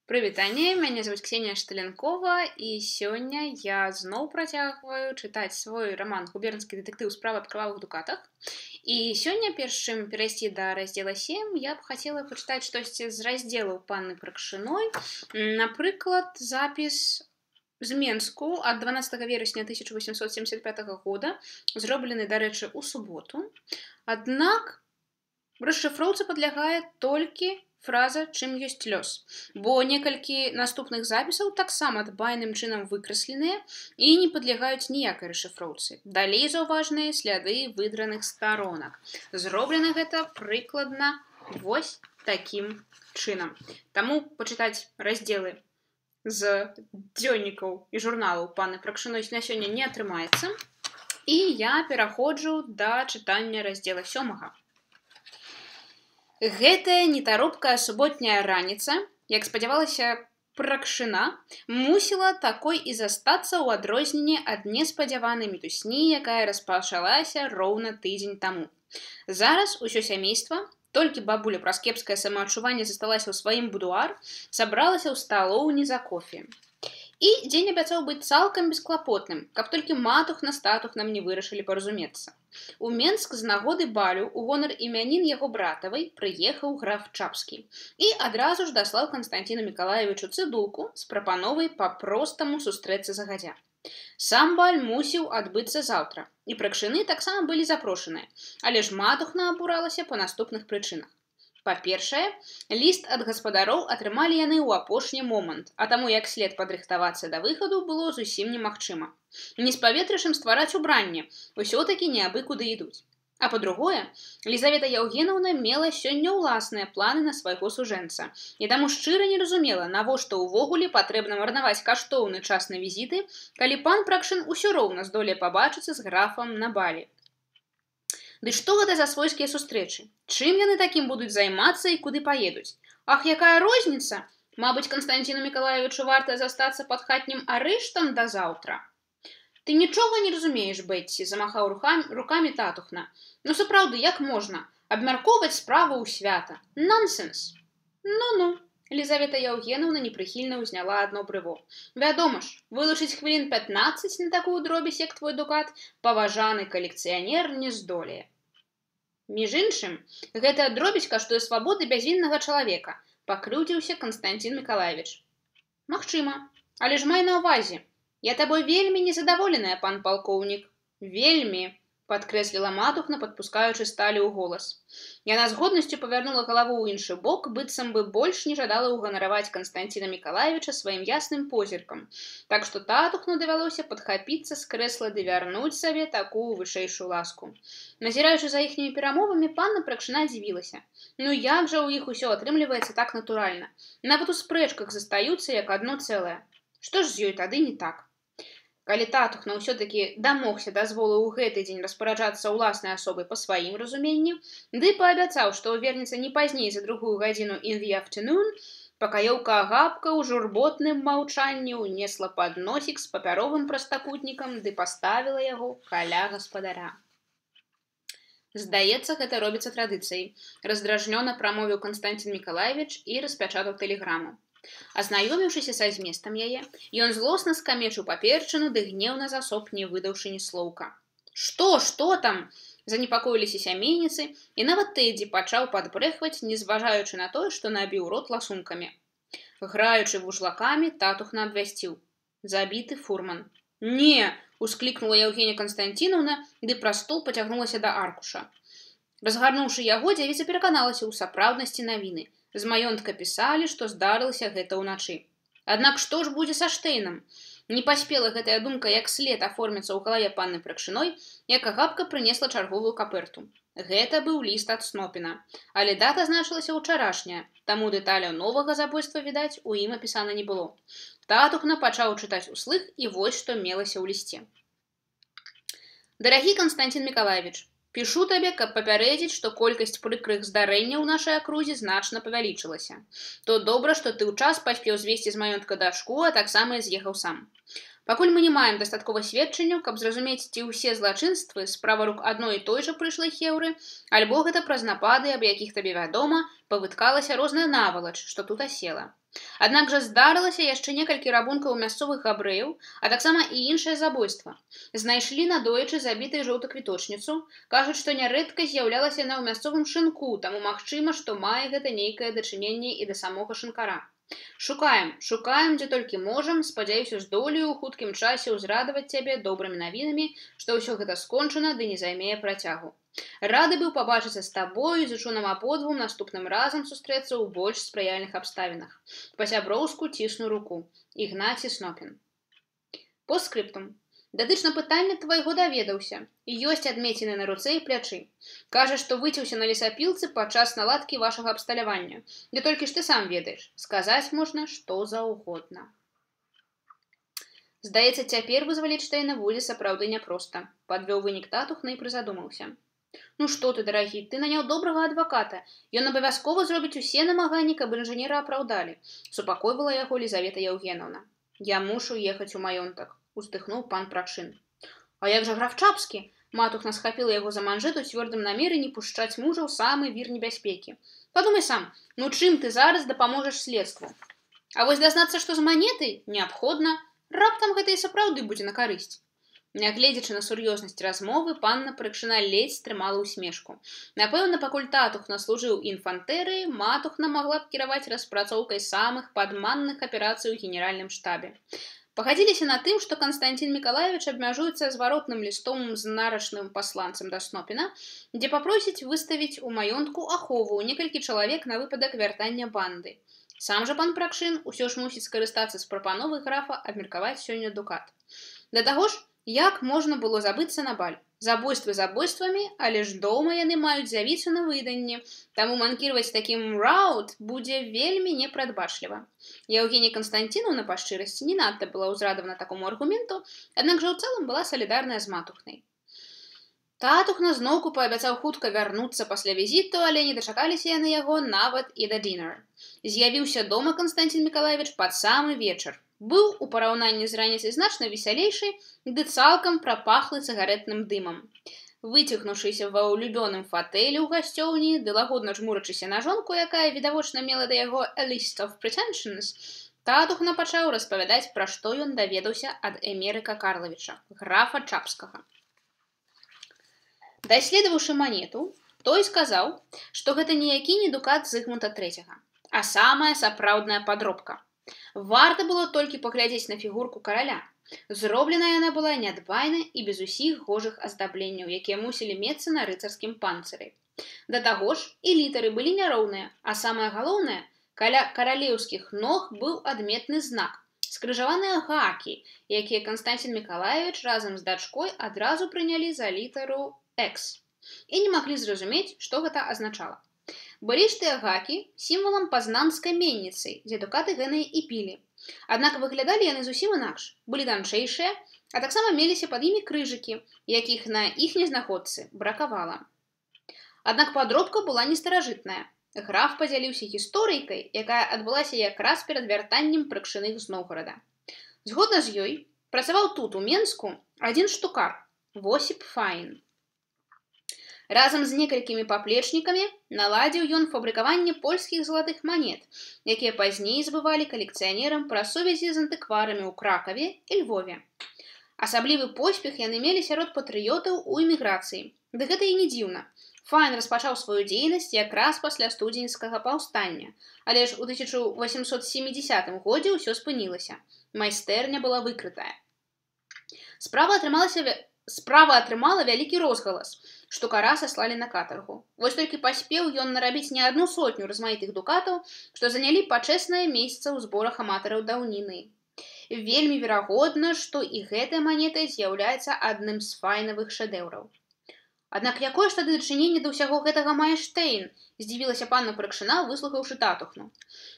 Прывітанне, мяне зовут Ксенія Шталенкова, і сёння я зноў працягваю чытаць свой раман губернскі дэтэктыў справа аб крывавых дукатах. І сёння, перш чым перайсці да раздзела 7, я б хацела пачытаць штосьці з раздзелаў панны Пракшыной. Напрыклад, запіс з Менску ад 12 верасня 1875 года, зроблены, дарэчы, у суботу. Аднак расшыфроўцы падлягае толькі фраза «чым ёсць лёс», бо некалькі наступных запісаў таксама дбайным чынам выкрасленыя і не падлягаюць ніякай расшыфроўцы. Далей заўважныя сляды выдраных старонак. Зроблена гэта прыкладна вось такім чынам. Таму пачытаць раздзелы з дзённікаў і журналаў панны Пракшыной на сёння не атрымаецца. І я пераходжу да чытання раздзела 7. Гэтая нетаропкая суботняя раніца, як спадзявалася Пракшына, мусіла такой і застацца ў адрозненне ад неспадзяванай мітусні, якая распачалася роўна тыдзень таму. Зараз усё сямейства, толькі бабуля праз кепскае самаадчуванне засталася ў сваім будуар, сабралася ў сталоўні за кофе. І дзень абяцаў быць цалкам бесклапотным, каб толькі матухна з татухнам не вырашылі паразумецца. У Менск з нагоды балю у гонар імянін яго братавай прыехаў граф Чапскі і адразу ж даслаў Канстанціну Мікалаевічу цыдулку з прапановай па-простаму сустрэцца загадзя. Сам баль мусіў адбыцца заўтра, і Пракшыны таксама былі запрошаныя, але ж матухна абуралася па наступных прычынах. Па-першае, ліст ад гаспадароў атрымалі яны ў апошні момант, а таму як след падрыхтавацца да выхаду было зусім немагчыма. Не з паветрышам ствараць убранне, усё-такі не абы куды ідуць. А па-другое, Лізавета Яўгенаўна мела сёння ўласныя планы на свайго сужэнца, і таму шчыра не разумела, навошта ўвогуле патрэбна марнаваць каштоўны час на візіты, калі пан Пракшын усё роўна здолее пабачыцца з графам на балі. Ды што гэта за свойскія сустрэчы? Чым яны такім будуць займацца і куды паедуць? Ах, якая розніца? Мабыць, Канстанціну Мікалаевічу варта застацца пад хатнім арыштам да заўтра. Ты нічога не разумееш, Бетці, замахаў рукамі татухна. Ну, сапраўды, як можна? Абмяркоўваць справу ў свята. Нонсенс. Ну-ну. Лізавета Яўгенаўна непрыхільна ўзняла адно брыво. Вядома ж, вылучыць хвілін 15 на такую дробязь, як твой дукат, паважаны калекцыянер не здолее. Між іншым, гэтая дробязь каштуе свабоды бязвіннага чалавека, пакрыўдзіўся Канстанцін Мікалаевіч. Магчыма, але ж май на ўвазе. Я табой вельмі незадаволеная, пан палкоўнік. Вельмі, падкрэсліла матухна, падпускаючы сталі ў голас. Яна з годнасцю павярнула галаву ў іншы бок, быццам бы больш не жадала ўганараваць Канстанціна Мікалаевіча сваім ясным позіркам. Так што татухну давялося падхапіцца з крэсла ды вярнуць сабе такую вышэйшую ласку. Назіраючы за іхнімі перамовамі, панна Пракшына дзівілася. Ну як жа ў іх усё атрымліваецца так натуральна? Нават у спрэчках застаюцца як адно цэлае. Што ж з ёй тады не так? Калі татухна ўсё-такі дамогся дазволу ў гэты дзень распараджацца ўласнай асобай па сваім разуменні, ды паабяцаў, што вернецца не пазней за 2 гадзіну in the afternoon, пакаёўка Агапка ў журботным маўчанні ўнесла падносік з папяровым прастакутнікам ды паставіла яго каля гаспадара. Здаецца, гэта робіцца традыцыяй, раздражнёна прамовіў Канстанцін Мікалаевіч і распячатаў тэлеграму. Азнаёміўшыся са зместам яе, ён злосна скамечыў паперчыну ды гнеўна засоп, не выдаўшы ні слоўка. Што там? Занепакоіліся сямейніцы, і нават Тэдзі пачаў падбрэхваць, не зважаючы на тое, што набіў рот ласункамі. Граючы вужлакамі, татухна абвясціў. Забіты фурман. Не! Усклікнула Яўгенія Канстанцінаўна, ды праз стол пацягнулася да аркуша. Разгарнуўшы яго, дзявіца пераканалася ў сапраўднасці навіны. З маёнтка пісалі, што здарылася гэта ўначы. Аднак што ж будзе са Штейнам? Не паспела гэтая думка як след аформіцца ў галаве панны Пракшыной, як Агапка прынесла чарговую каперту. Гэта быў ліст ад Снопіна, але дата значылася ўчарашняя, таму дэталяў новага забойства, відаць, у ім апісана не было. Татухна пачаў чытаць услых, і вось што мелася ў лісце. Дарагі Канстанцін Мікалаевіч, пішу табе, каб папярэдзіць, што колькасць прыкрых здарэнняў у нашай акрузе значна павялічылася. То добра, што ты ў час паспеў звесці з маёнтка дачку, а таксама і з'ехаў сам. Пакуль мы не маем дастаткова сведчанняў, каб зразумець, ці ўсе злачынствы справа рук адной і той жа прыйшлай хеўры, альбо гэта праз напады, аб якіх табе вядома, павыткалася розная навалач, што тут асела. Аднак жа здарылася яшчэ некалькі рабункаў мясцовых габрэяў, а таксама і іншае забойства. Знайшлі надоечы забітай жоўтаквіточніцу, кажуць, што нярэдка з'яўлялася яна ў мясцовым шынку, таму магчыма, што мае гэта нейкае дачыненне і да самога шынкара. Шукаем, дзе толькі можам, спадзяюся, здолею ў хуткім часе ўзрадаваць цябе добрымі навінамі, што ўсё гэта скончана ды не займее працягу. Рады быў пабачыцца з табою, зычу нам абодвум наступным разам сустрэцца ў больш спрыяльных абставінах. Па-сяброўску цісну руку. Ігнаці Снопін. Постскрыптум. Датычна пытання твайго даведаўся. Ёсць адмеціны на руцэ і плячы. Кажа, што выцеўся на лесапілцы падчас наладкі вашага абсталявання. Ды толькі ж ты сам ведаеш. Сказаць можна што заўгодна. Здаецца, цяпер вызваліць Штейна будзе сапраўды няпроста. Падвёў вынік Татухна і прызадумаўся. Ну што ты, дарагі, ты наняў добрага адваката. Ён абавязкова зробіць усе намаганні, каб інжынера апраўдалі. Супакойвала яго Лізавета Яўгенаўна. Я мушу ехаць у маёнтак. Уздыхнуў пан Пракшын. А як жа граф Чапскі? Матухна схапіла яго за манжэт у цвёрдым намеры не пушчаць мужа ў самы вір небяспекі. Падумай сам, ну чым ты зараз дапаможаш следству? А вось дазнацца, што з манетай, неабходна, раптам гэта і сапраўды будзе на карысць. Нягледзячы на сур'ёзнасць размовы, панна Пракшына ледзь стрымала ўсмешку. Напэўна, пакуль Татухна служыў інфантэрыі, матухна магла б кіраваць распрацоўкай самых падманных аперацый у генеральным штабе. Пагадзіліся на тым, што Канстанцін Мікалаевіч абмяжуецца зваротным лістом з нарачным пасланцам да Снопіна, дзе папросіць выставіць у маёнтку ахову некалькі чалавек на выпадак вяртання банды. Сам жа пан Пракшын усё ж мусіць скарыстацца з прапановай графа абмеркаваць сёння дукат. Да таго ж, як можна было забыцца на баль? Забойствы забойствамі, але ж дома яны маюць з'явіцца на выданні, таму манкіраваць такім раут будзе вельмі непрадбачліва. Яўгенія Канстанціноўна па шчырасці не надта была ўзрадавана такому аргументу, аднак жа ў цэлым была салідарная з матухнай. Татухна зноўку паабяцаў хутка вярнуцца пасля візіту, але не дачакаліся яны яго нават і да дінер. З'явіўся дома Канстанцін Мікалаевіч пад самы вечар. Быў у параўнанні з раніцай значна весялейшы, ды цалкам прапахлы цыгарэтным дымам. Выцягнуўшыся ва ўлюбёным фатэлі ў гасцёўні, ды лагодна жмурачыся на жонку, якая відавочна мела да яго a list of pretensions, Татухна пачаў распавядаць, пра што ён даведаўся ад Эмерыка Карлавіча, графа Чапскага. Даследаваўшы манету, той сказаў, што гэта ніякі не дукат Зыгмунта III, а самая сапраўдная падробка. Варта было толькі паглядзець на фігурку караля. Зроблена яна была нядбайна і без усіх гожых аздабленняў, якія мусілі мецца на рыцарскім панцыры. Да таго ж, і літары былі няроўныя, а самае галоўнае, каля каралеўскіх ног быў адметны знак – скрыжаваныя гакі, якія Канстанцін Мікалаевіч разам з дачкой адразу прынялі за літару X і не маглі зразумець, што гэта азначала. Былі ж тыя гакі сімвалам пазнанскай менніцы, дзе дукаты гэныя і пілі. Аднак выглядалі яны зусім інакш, былі танчэйшыя, а таксама меліся пад імі крыжыкі, якіх на іхняй знаходцы бракавала. Аднак падробка была не старажытная. Граф падзяліўся гісторыйкай, якая адбылася якраз перад вяртаннем Пракшыных з Новгарада. Згодна з ёй, працаваў тут, у Менску, адзін штукар – Восіп Файн. Разам з некалькімі паплечнікамі наладзіў ён фабрыкаванне польскіх залатых манет, якія пазней збывалі калекцыянерам пра сувязі з антыкварамі ў Кракаве і Львове. Асаблівы поспех яны мелі сярод патрыётаў у эміграцыі. Ды гэта і не дзіўна. Файн распачаў сваю дзейнасць якраз пасля студзеньскага паўстання, але ж у 1870 годзе ўсё спынілася. Майстэрня была выкрытая. Справа атрымала вялікі розгалас, штукара саслалі на катаргу. Вось толькі паспеў ён нарабіць не адну сотню размаітых дукатаў, што занялі пачэснае месца ў зборах аматараў даўніны. Вельмі верагодна, што і гэтая манета з'яўляецца адным з файнавых шэдэўраў. Аднак якое ж тады дачыненне да ўсяго гэтага мае Штейн? Здзівілася панна Пракшына, выслухаўшы Татухну.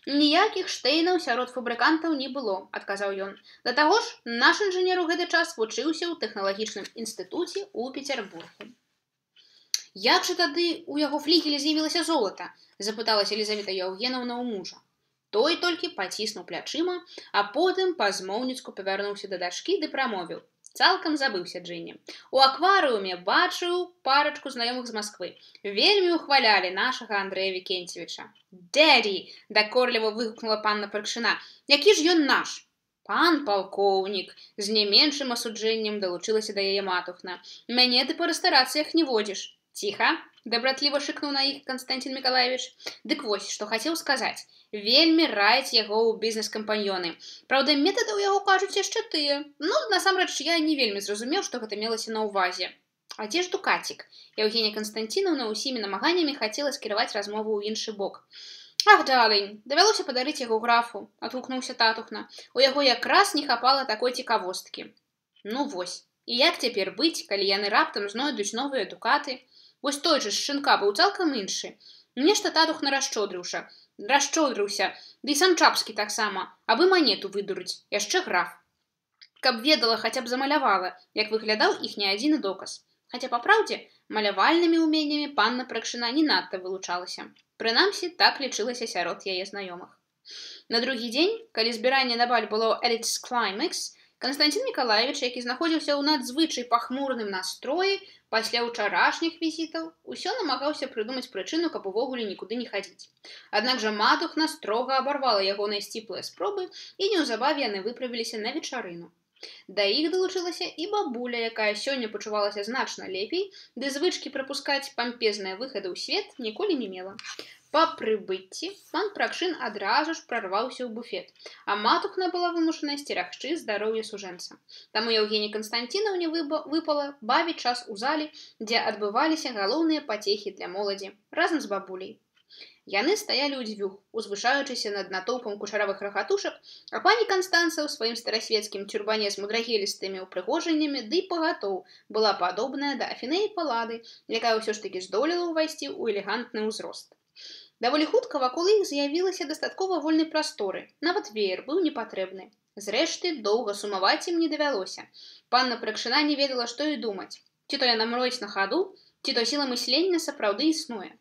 Ніякіх Штейнаў сярод фабрыкантаў не было, адказаў ён. Да таго ж, наш інжынер у гэты час вучыўся ў тэхналагічным інстытуце ў Пецярбургу. Як жа тады ў яго флігелі з'явілася золата? Запыталася Лізавета Яўгенаўна ў мужа. Той толькі паціснуў плячыма, а потым па-змоўніцку павярнуўся да дачкі ды прамовіў. Цалкам забыўся Джинни. У акварыуме бачыў парачку знаёмых з Масквы. Вельмі ухвалялі нашага Андрэя Вікенцевіча. «Дэдді!» – дакорліва выгукнула панна Пракшына. «Які ж ён наш?» «Пан палкоўнік!» – з не меншым асуджэннем далучылася да яе матухна. «Мяне ты па рэстарацыях не водзіш!» «Ціха!» – дабратліва шыкнуў на іх Константин Миколаевич. «Дык вось, што хацеў сказаць. Вельмі раіць яго ў бізнес-кампаньёны. Праўда, метады ў яго кажуць яшчэ тыя. Ну, насамрэч, я не вельмі зразумеў, што гэта мелася на ўвазе. А дзе ж Дукацік?» Евгения Константиновна ўсімі намаганнямі хацела скіраваць размову ў іншы бок. «Ах, далень, давялося падарыць яго графу», – адгукнуўся татухна. «У яго якраз не хапала такой цікавосткі». «Ну вось, і як цяпер быць, калі яны раптам знойдуць новыя дукаты? Вось той жа з шынка быў цалкам іншы. Нешта татухна расчодрыўся, ды і сам Чапскі таксама, абы манету выдурыць, яшчэ граф. Каб ведала, хаця б замалявала, як выглядаў іхні адзіны доказ. Хаця, па праўдзе, малявальнымі ўменнямі панна Пракшына не надта вылучалася. Прынамсі, так лічылася сярод яе знаёмых. На другі дзень, калі збіранне на баль было at its climax, Константин Миколаевич, які знаходзіўся ў надзвычай пахмурным настроі пасля ўчарашніх візітаў, усё намагаўся прыдумаць прычыну, каб увогуле нікуды не хадзіць. Аднак жа матухна строга абарвала ягоныя сціплыя спробы, і неўзабаве яны выправіліся на вечарыну. Да іх далучылася і бабуля, якая сёння пачувалася значна лепей, ды звычкі прапускаць пампезныя выхады ў свет ніколі не мела. Па прыбыцці пан Пракшын адразу ж прарваўся ў буфет, а матухна была вымушана сцерагчы здароўе сужэнца. Таму Евгении Константиновне выпала бавіць час у зале, дзе адбываліся галоўныя пацехі для моладзі, разам з бабуляй. Яны стаялі ўдзвюх, узвышаючыся над натоўпам кучаравых рагатушак, а пані Канстанца ў сваім старасвецкім тюрбане з мудрагелістымі ўпрыгожаннямі ды пагатоў была падобная да Афінеі Паллады, якая ўсё ж такі здолела ўвайсці ў элегантны ўзрост. Даволі хутка вакол іх з'явілася дастаткова вольнай прасторы, нават веер быў непатрэбны. Зрэшты, доўга сумаваць ім не давялося. Панна Пракшына не ведала, што і думаць. Ці то яна мроіць на хаду, ці то сіла мыслення сапраўды існуе.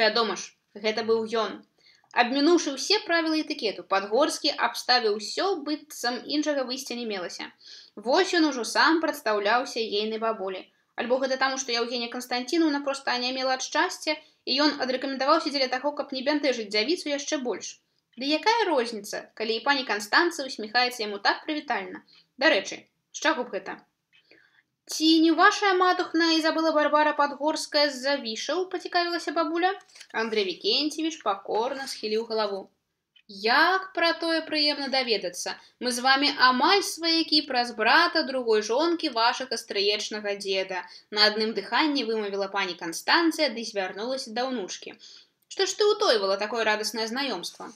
Вядома ж, гэта быў ён. Абмінуўшы ўсе правілы этыкету, Падгорскі абставіў усё, быццам іншага выйсця не мелася. Вось ён ужо сам прадстаўляўся ейнай бабулі. Альбо гэта таму, што Евгения Константиновна проста анямела ад шчасця, і ён адрэкамендаваўся дзеля таго, каб не бянтэжыць дзявіцу яшчэ больш. Ды якая розніца, калі і пані Канстанца усміхаецца яму так прывітальна? Дарэчы, з чаго б гэта? «Ці не вашая матухна Изабелла Барбара Падгорская з-за вішаў?» – пацікавілася бабуля. Андрэй Вікенцевіч пакорна схіліў галаву. «Як пра тое прыемна даведацца. Мы з вамі амаль сваякі праз брата другой жонкі вашага стрыечнага дзеда», – на адным дыханні вымавіла пані Канстанцыя ды звярнулася да ўнучкі. «Што ж ты ўтойвала такое радаснае знаёмства?»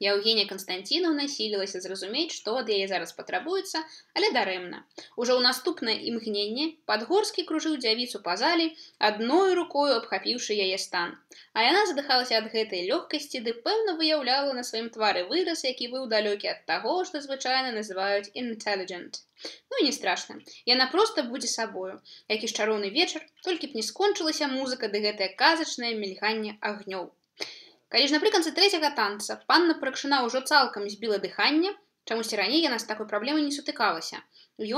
Евгения Константиновна сілілася зразумець, што ад яе зараз патрабуецца, але дарэмна. Ужо ў наступнае імгненне Падгорскі кружыў дзявіцу па зале, адной рукою абхапіўшы яе стан. А яна задыхалася ад гэтай лёгкасці, ды пэўна выяўляла на сваім твары выраз, які быў далёкі ад таго, што звычайна называюць intelligent. Ну і не страшна, яна проста будзе сабою. Які ж чароўны вечар, толькі б не скончылася музыка ды гэтае казачнае мільганне агнёў. Калі ж напрыканцы трэцяга танца панна Пракшына ўжо цалкам збіла дыханне, чамусьці раней яна з такой праблемай не сутыкалася,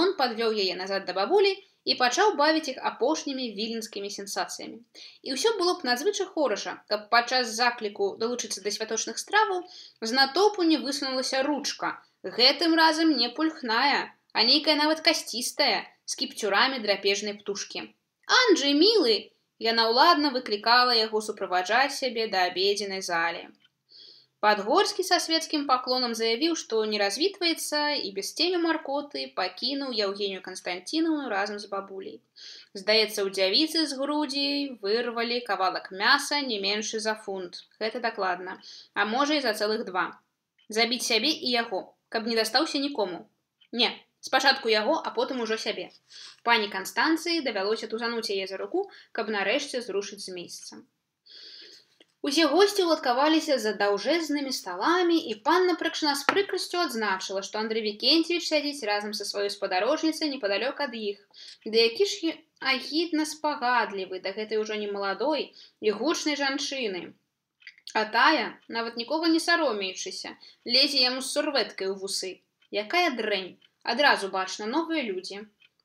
ён падвёў яе назад да бабулі і пачаў бавіць іх апошнімі віленскімі сенсацыямі. І ўсё было б надзвычай хораша, каб падчас закліку далучыцца да святочных страваў з натоўпу не высунулася ручка, гэтым разам не пульхная, а нейкая нават касцістая, з кіпцюрамі драпежнай птушкі. «Анджэй, мілы!» Яна ўладна выклікала яго суправаджаць сябе да абедзенай залі. Падгорскі са свецкім паклонам заявіў, што не развітваецца і без ценю маркоты пакінуў Евгению Константиновну разам з бабуляй. Здаецца, у дзявіцы з грудзей вырвалі кавалак мяса не меншы за фунт. Гэта дакладна. А можа і за цэлых 2. Забіць сябе і яго, каб не дастаўся нікому. Не. Спачатку яго, а потым ужо сябе. Пані Канстанцыі давялося тузануць яе за руку, каб нарэшце зрушыць з месяца. Усе госці ўладкаваліся за даўжэзнымі сталамі, і панна Пракшына з прыкрасцю адзначыла, што Андрэй Вікенцевіч сядзіць разам са сваёй спадарожніцай непадалёк ад іх. Ды які ж агідна спагадлівы да гэтай ужо немаладой і гучнай жанчыны. А тая, нават нікога не саромеючыся, лезе яму з сурвэткай у вусы. Якая дрэнь! Адразу бачна, новыя людзі.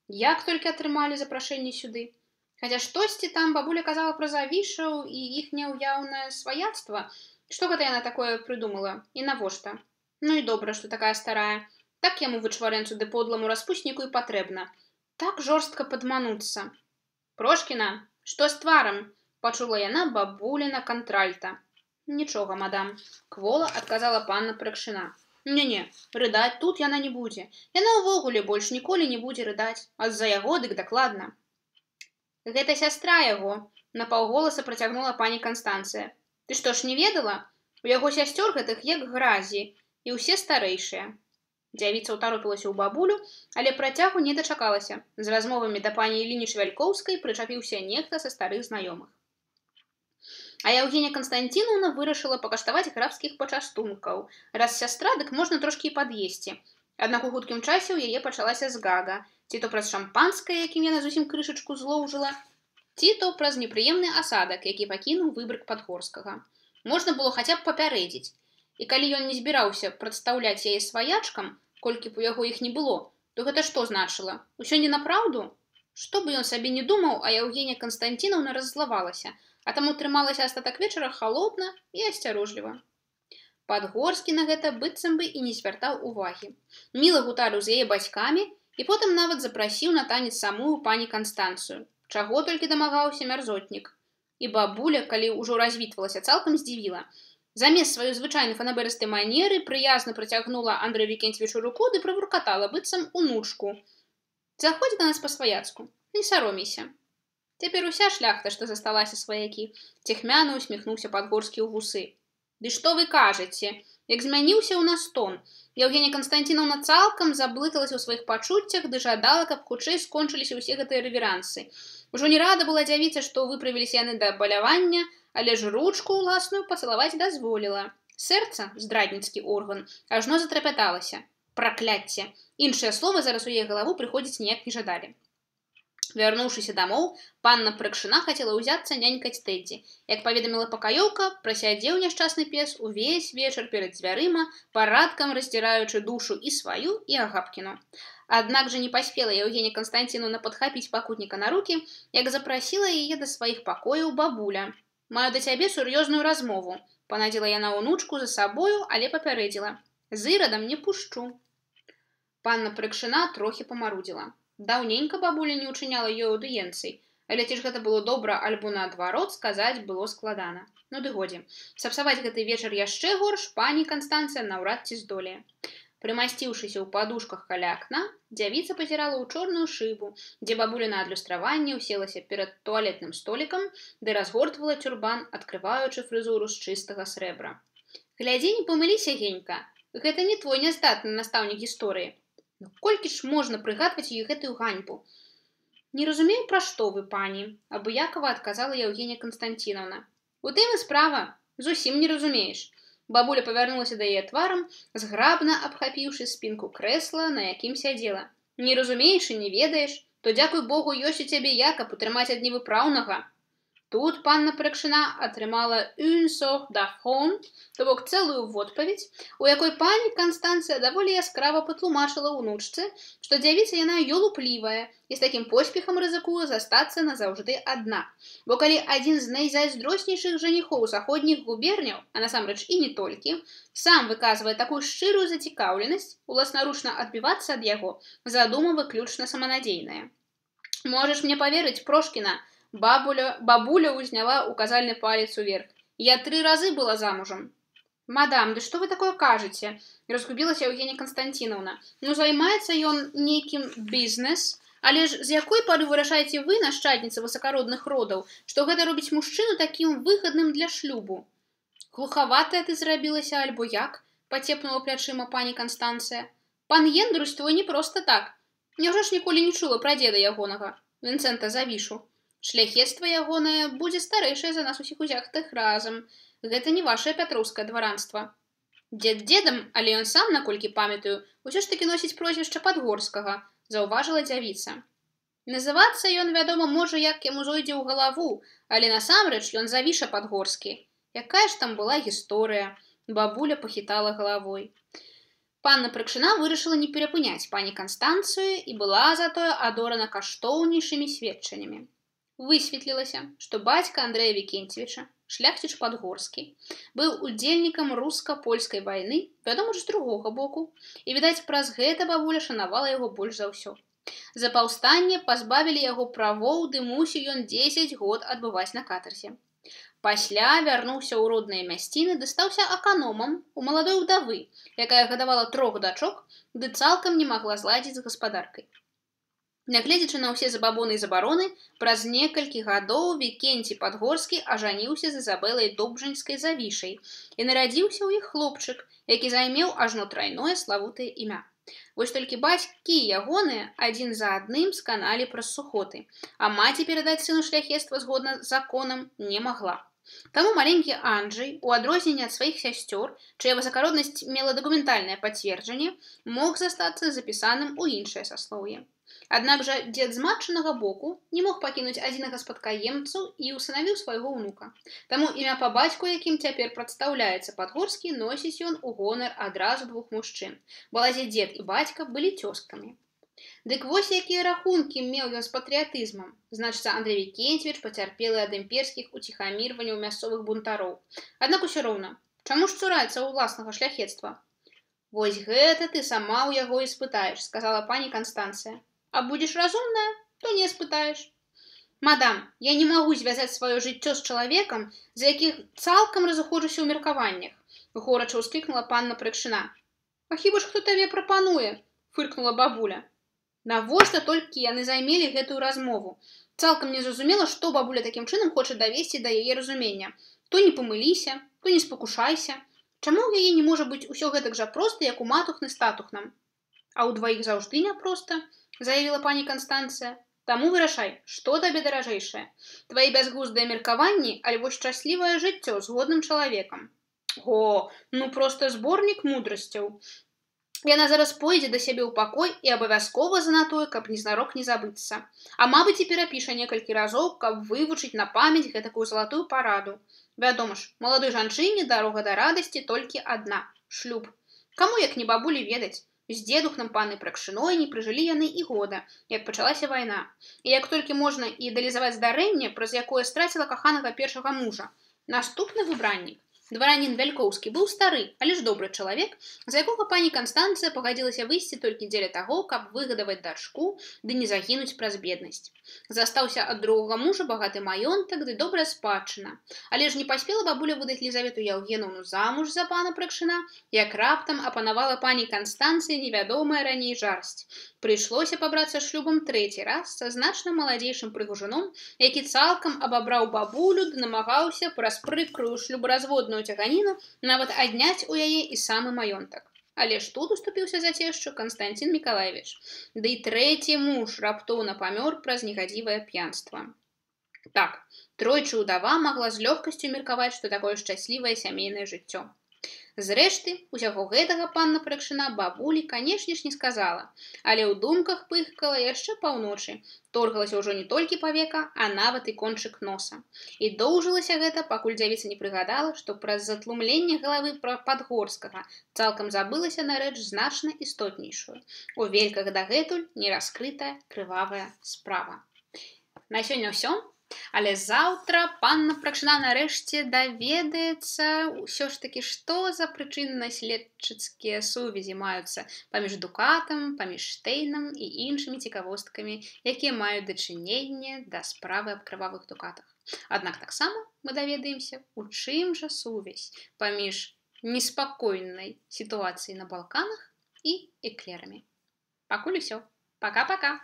Як толькі атрымалі запрашэнне сюды. Хаця штосьці там бабуля казала пра завішаў і іхняе ўяўнае сваяцтва. Што гэта яна такое прыдумала? І навошта? Ну і добра, што такая старая. Так яму вычварэнцу ды подламу распусніку і патрэбна. Так жорстка падмануцца. Прошкіна, што з тварам? Пачула яна бабуліна кантральта. Нічога, мадам, квола адказала панна Пракшына. Не-не, рыдаць тут яна не будзе. Яна ўвогуле больш ніколі не будзе рыдаць, а з-за яго дык дакладна. Гэта сястра яго, напаўголаса працягнула пані Канстанцыя. Ты што ж не ведала? У яго сясцёр гэтых як гразі, і ўсе старэйшыя. Дзявіца ўтаропілася ў бабулю, але працягу не дачакалася. З размовамі да пані Іліні Швялькоўскай прычапіўся нехта са старых знаёмых. А Яўгенія Канстанціноўна вырашыла пакаштаваць графскіх пачастункаў. Раз сястра, дык можна трошкі і пад'есці. Аднак у хуткім часе ў яе пачалася згага. Ці то праз шампанскае, якім яна зусім крышачку злоўжыла, ці то праз непрыемны асадак, які пакінуў выбрык Падгорскага. Можна было хаця б папярэдзіць. І калі ён не збіраўся прадстаўляць яе сваячкам, колькі б у яго іх не было, то гэта што значыла? Усё не напраўду? Што бы ён сабе не думаў, а Яўгенія Канстанціноўна раззлавалася, а таму трымалася астатак вечара халодна і асцярожліва. Падгорскі на гэта быццам бы і не звяртаў увагі. Міла гутарыў з яе бацькамі і потым нават запрасіў на танец самую пані Канстанцыю. Чаго толькі дамагаўся мярзотнік. І бабуля, калі ўжо развітвалася, цалкам здзівіла. Замест сваёй звычайнай фанаберыстай манеры прыязна працягнула Андрэю Вікенцевічу руку ды правуркатала быццам унучку. Заходзь да нас па-сваяцку, не саромейся. Цяпер уся шляхта, што засталася сваякі, цехмяна усміхнуўся Падгорскі ў вусы. Ды што вы кажаце? Як змяніўся ў нас тон. Яўгенія Канстанціноўна цалкам заблыталася ў сваіх пачуццях ды жадала, каб хутчэй скончыліся ўсе гэтыя рэверансы. Ужо не рада была дзявіца, што выправіліся яны да балявання, але ж ручку ўласную пацалаваць дазволіла. Сэрца, здрадніцкі орган, ажно затрапяталася. Пракляцце. Іншыя словы зараз у яе галаву прыходзіць ніяк не жадалі. Вярнуўшыся дамоў, панна Пракшына хацела ўзяцца нянькаць Тэддзі. Як паведаміла пакаёўка, прасядзеў няшчасны пес увесь вечар перад дзвярыма, парадкам раздзіраючы душу і сваю, і Агапкіну. Аднак жа не паспела Яўгенія Канстанціноўна падхапіць пакутніка на рукі, як запрасіла яе да сваіх пакояў бабуля. «Маю да цябе сур'ёзную размову», – панадзіла яна ўнучку за сабою, але папярэдзіла. «З Ірадам не пушчу». Панна Пракшына трохі памарудзіла. Даўненька бабуля не ўчыняла ёй аўдыенцый, але ці ж гэта было добра альбо наадварот, сказаць было складана. Ну ды годзе. Сапсаваць гэты вечар яшчэ горш пані Канстанцыя наўрад ці здолее. Прымасціўшыся ў падушках каля акна, дзявіца пазірала ў чорную шыбу, дзе бабуля на адлюстраванне ўселася перад туалетным столікам, ды разгортвала тюрбан, адкрываючы фрызуру з чыстага срэбра. Глядзі, не памыліся, Генька, гэта не твой няздатны настаўнік гісторыі. Ну, колькі ж можна прыгадваць ёй гэтую ганьбу? Не разумею, пра што вы, пані, абыякава адказала Яўгенія Канстанціноўна. У тым і справа, зусім не разумееш. Бабуля павярнулася да яе тварам, зграбна абхапіўшы спінку крэсла, на якім сядзела. Не разумееш і не ведаеш, то дзякуй Богу ёсць у цябе я, каб утрымаць ад невыпраўнага. Тут панна Пракшына атрымала une sorte d'affront, то бок цэлую водпаведь, у якой пані Канстанцыя даволі яскрава патлумачыла ўнучцы, што дзявіца яна ёлуплівая і з такім поспехам рызыкуе застацца назаўжды адна. Бо калі адзін з найзайздроснейшых жаніхоў заходніх губерняў, а насамрэч і не толькі, сам выказвае такую шчырую зацікаўленасць, уласнаручна адбівацца ад яго, задума выключна саманадзейная. Можаш мне паверыць, Прошкіна, бабуля ўзняла указальны палец уверх. Я 3 разы была замужам. Мадам, ды што вы такое кажаце? Разгубілася Яўгенія Канстанціноўна. Ну, займаецца ён нейкім бізнес, але ж з якой пары вырашаеце вы, нашчадніца высакародных родаў, што гэта робіць мужчыну такім выгадным для шлюбу? Глухаватая ты зрабілася, альбо як? Пацепнула плячыма пані Канстанцыя. Пан Ендрусь твой не проста так. Няўжо ж ніколі не чула пра дзеда ягонага, Вінцэнта Завішу. Шляхецтва ягонае будзе старэйшае за нас усіх узятых разам. Гэта не вашае пятроўскае дваранства. Дзед дзедам, але ён сам, наколькі памятаю, усё ж такі носіць прозвішча Падгорскага, заўважыла дзявіца. Называцца ён, вядома, можа, як яму зойдзе ў галаву, але насамрэч ён Завіша Падгорскі. Якая ж там была гісторыя? Бабуля пахітала галавой. Панна Прыкшына вырашыла не перапыняць пані Канстанцыю і была затое адорана каштоўнейшымі сведчаннямі. Высветлілася, што бацька Андрэя Вікенцевіча, шляхціч Падгорскі, быў удзельнікам руска-польскай вайны, вядома ж, з другога боку, і, відаць, праз гэта бабуля шанавала яго больш за ўсё. За паўстанне пазбавілі яго правоў, ды мусіў ён 10 год адбываць на катарзе. Пасля вярнуўся ў родныя мясціны, ды стаўся аканомам у маладой удавы, якая гадавала 3 дачок, ды цалкам не магла зладзіць з гаспадаркай. Нягледзячы на ўсе забабоны і забароны, праз некалькі гадоў Вікенцій Падгорскі ажаніўся з Ізабелай Добжанскай Завішай і нарадзіўся ў іх хлопчык, які займеў ажно трайное славутае імя. Вось толькі бацькі ягоныя адзін за адным сканалі праз сухоты, а маці перадаць сыну шляхецтва згодна з законам не магла. Таму маленькі Анджай, у адрозненне ад сваіх сясцёр, чыя высакароднасць мела дакументальнае пацверджанне, мог застацца запісаным у іншае саслоўе. Аднак жа дзед з матчынага боку не мог пакінуць адзінага спадкаемцу і ўсынавіў свайго ўнука. Таму імя па бацьку, якім цяпер прадстаўляецца Падгорскі, носіць ён у гонар адразу 2 мужчын. Балазе дзед і бацька былі цёзкамі. Дык вось якія рахункі меў ён з патрыятызмам. Значыцца, Андрэй Вікенцевіч пацярпелы ад імперскіх уціхамірванняў мясцовых бунтароў. Аднак усё роўна, чаму ж цураецца ў ўласнага шляхецтва? Вось гэта ты сама ў яго і спытаеш, сказала пані Канстанцыя. А будзеш разумная, то не спытаеш. Мадам, я не магу звязаць сваё жыццё з чалавекам, за якіх цалкам разыходжуся ў меркаваннях, горача ўсклікнула панна Прыкшына. А хіба ж хто табе прапануе? Фыркнула бабуля. Навошта толькі яны займелі гэтую размову? Цалкам не зразумела, што бабуля такім чынам хоча давесці да яе разумення. То не памыліся, то не спакушайся. Чаму ў яе не можа быць усё гэтак жа проста, як у матухны з татухнам? А ў дваіх заўжды няпроста, заявіла пані Канстанцыя. Таму вырашай, што табе даражэйшае? Твае бязглуздыя меркаванні, альбо шчаслівае жыццё з годным чалавекам. О, ну проста зборнік мудрасцяў. Яна зараз пойдзе да сябе ў пакой і абавязкова занатуе, каб незнарок не забыцца. А мабыць і перапіша некалькі разоў, каб вывучыць на памяць гэтакую залатую параду. Вядома ж, маладой жанчыне дарога да радасці толькі адна – шлюб. Каму як не бабулі ведаць? З дзедухнам панны Прыкшыной не прыжылі яны і года, як пачалася вайна. І як толькі можна ідэалізаваць здарэнне, праз якое страціла каханага першага мужа. Наступны выбраннік. Дваранін Вялькоўскі быў стары, але ж добры чалавек, за якога пані Канстанцыя пагадзілася выйсці толькі дзеля таго, каб выгадаваць дачку, ды не загінуць праз беднасць. Застаўся ад другога мужа багаты маёнтак, ды добрая спадчына. Але ж не паспела бабуля выдаць Лізавету Яўгенаўну замуж за пана Прыкшына, як раптам апанавала пані Канстанцыі невядомая раней жарсць. Прыйшлося пабрацца шлюбам 3-й раз са значна маладзейшым прыгажуном, які цалкам абабраў бабулю ды намагаўся праз прыкрую шлюбаразводную цяганіну нават адняць у яе і самы маёнтак. Але ж тут уступіўся за цешчу Канстанцін Мікалаевіч. Ды і 3-й муж раптоўна памёр праз негадзівае п'янства. Так, тройчы ўдава магла з лёгкасцю меркаваць, што такое шчаслівае сямейнае жыццё. Зрэшты, усяго гэтага панна Прыкшына бабулі, канешне ж, не сказала, але ў думках пыхкала яшчэ паўночы, торгалася ўжо не толькі павека, а нават і кончык носа. І доўжылася гэта, пакуль дзявіца не прыгадала, што праз затлумленне галавы Падгорскага цалкам забылася на рэч значна істотнейшую. У вельках дагэтуль нераскрытая крывавая справа. На сёння ўсё. Але заўтра панна Прыкшына нарэшце даведаецца ўсё ж такі, што за прычынна-следчыцкія сувязі маюцца паміж дукатам, паміж Штейнам і іншымі цікавосткамі, якія маюць дачыненне да справы аб крывавых дукатах. Аднак таксама мы даведаемся, у чым жа сувязь паміж неспакойнай сітуацыяй на Балканах і эклерамі. Пакуль усё. Пака-пака!